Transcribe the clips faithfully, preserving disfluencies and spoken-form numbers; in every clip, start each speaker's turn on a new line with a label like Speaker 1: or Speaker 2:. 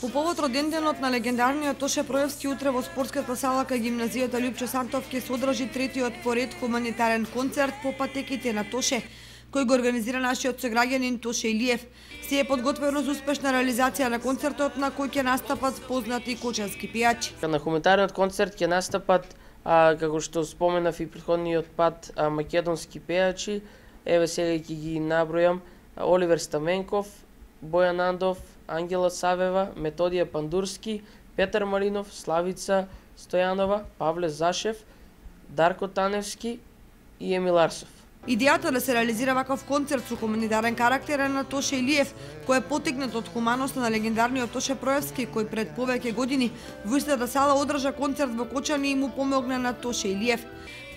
Speaker 1: По повод роденденот на легендарниот Тоше Проевски утре во спортската сала кај гимназијата Лјупчо Сантов ќе се одржи третиот поред хуманитарен концерт по патеките на Тоше, кој го организира нашиот сограѓанин Тоше Илиев. Се е подготвено за успешна реализација на концертот на кој ќе настапат познати кочански пејачи.
Speaker 2: На хуманитарниот концерт ќе настапат, а, како што споменав и претходниот пат, а, македонски пејачи. Еве сега ќе ги набројам: Оливер Стаменков, Бојан Андов, Ангела Савева, Методија Пандурски, Петар Маринов, Славица Стојанова, Павле Зашев, Дарко Таневски и Емил Арсов.
Speaker 1: Идејата да се реализира ваков концерт со хуманитарен карактер е на Тоше Илиев, кој е потекнат од хуманоста на легендарниот Тоше Проевски, кој пред повеќе години во истата сала одржа концерт во Кочани и му помогна на Тоше Илиев.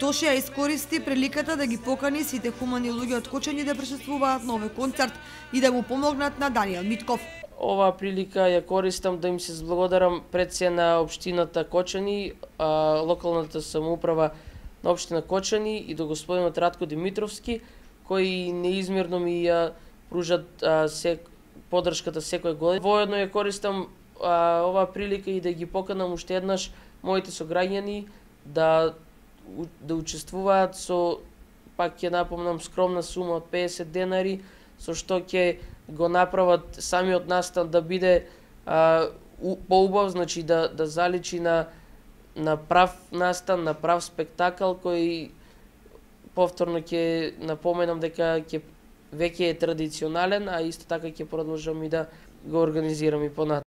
Speaker 1: Тоше ја искористи приликата да ги покани сите хумани луѓе од Кочани да присуствуваат на овој концерт и да му помогнат на Даниел Митков.
Speaker 2: Оваа прилика ја користам да им се зблагодарам пред се на општината Кочани, а, локалната самоуправа на општина Кочани и до господинот Радко Димитровски, кои неизмерно ми ја пружат а, се, поддршката секој година. Воедно ја користам а, оваа прилика и да ги поканам уште еднаш моите сограѓани да да учествуваат со, пак ќе напомнам, скромна сума од педесет денари, со што ќе го направат самиот настан да биде а, поубав, значи да да заличи на на прав настан, на прав спектакл кој повторно ќе напоменам дека ќе веќе е традиционален, а исто така ќе продолжам и да го организирам и понатаму.